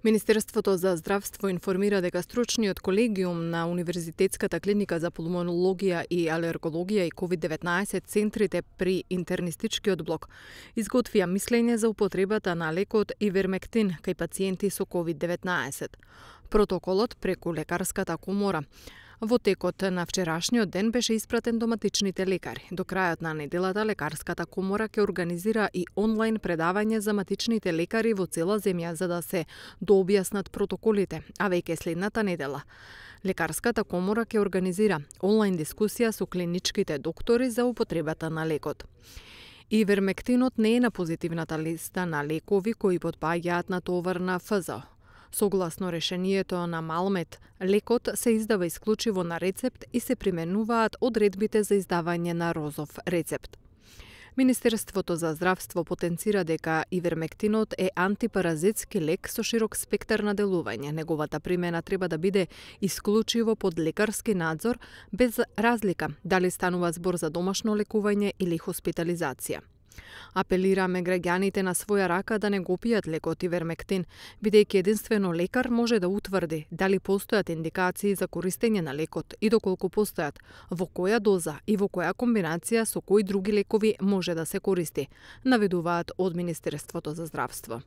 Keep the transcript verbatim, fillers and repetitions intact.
Министерството за здравство информира дека стручниот колегиум на Универзитетската клиника за пулмонологија и алергологија и ковид деветнаесет центрите при интернистичкиот блок изготвија мислење за употребата на лекот ивермектин кај пациенти со ковид деветнаесет. Протоколот преку лекарската комора во текот на вчерашниот ден беше испратен до матичните лекари. До крајот на неделата лекарската комора ќе организира и онлайн предавање за матичните лекари во цела земја за да се дообјаснат протоколите, а веќе следната недела лекарската комора ќе организира онлайн дискусија со клиничките доктори за употребата на лекот. Ивермектинот не е на позитивната листа на лекови кои потпаѓаат на товар на Еф Зо О. Согласно решението на Малмед, лекот се издава исклучиво на рецепт и се применуваат одредбите за издавање на розов рецепт. Министерството за здравство потенцира дека ивермектинот е антипаразитски лек со широк спектар на делување. Неговата примена треба да биде исклучиво под лекарски надзор, без разлика дали станува збор за домашно лекување или хоспитализација. Апелираме граѓаните на своја рака да не го пијат лекот ивермектин, бидејќи единствено лекар може да утврди дали постојат индикации за користење на лекот и доколку постојат, во која доза и во која комбинација со кои други лекови може да се користи, наведуваат од Министерството за здравство.